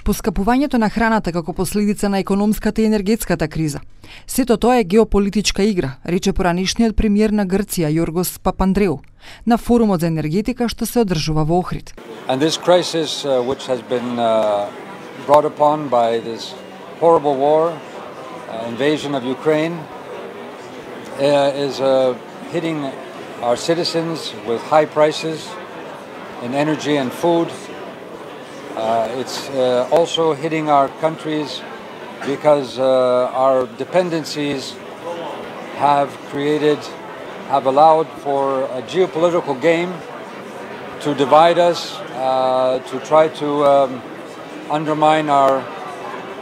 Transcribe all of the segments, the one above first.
Поскапувањето на храната како последица на економската и енергетската криза. Сето тоа е геополитичка игра, рече поранешниот премиер на Грција Јоргос Папандреу на форумот за енергетика што се одржува во Охрид. And this crisis which has been brought upon by this horrible war, invasion of Ukraine, is hitting our citizens with high prices in energy and food. It's also hitting our countries because our dependencies have allowed for a geopolitical game to divide us, to try to undermine our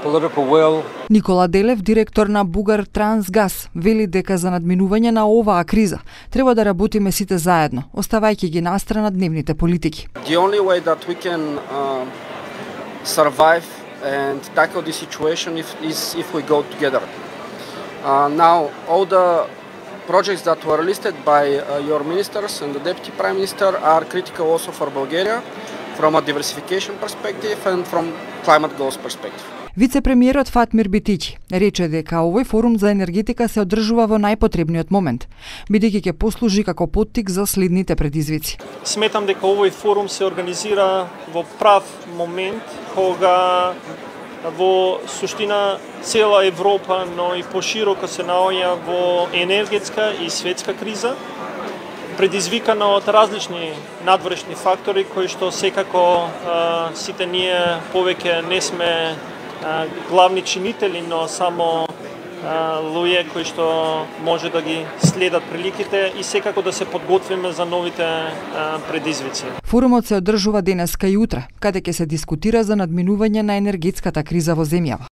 political will. Никола Делев, директор на Бугар Трансгаз, вели дека за надминување на оваа криза треба да работиме сите заедно, оставајќи ги настрана дневните политики. The only way that we can survive and tackle this situation is if we go together. Now, all the projects that were listed by your ministers and the deputy prime minister are critical also for Bulgaria from a diversification perspective and from climate goals perspective. Вице-премиерот Фатмир Битичи рече дека овој форум за енергетика се одржува во најпотребниот момент, бидејќи ќе послужи како поттик за следните предизвици. Сметам дека овој форум се организира во прав момент кога во суштина цела Европа, но и пошироко се наоѓа во енергетска и светска криза, предизвикана од различни надворешни фактори кои што секако сите ние повеќе не сме главни чинители, но само луѓе кои што може да ги следат приликите и секако да се подготвиме за новите предизвици. Форумот се одржува денеска и утре, каде ќе се дискутира за надминување на енергетската криза во земјава.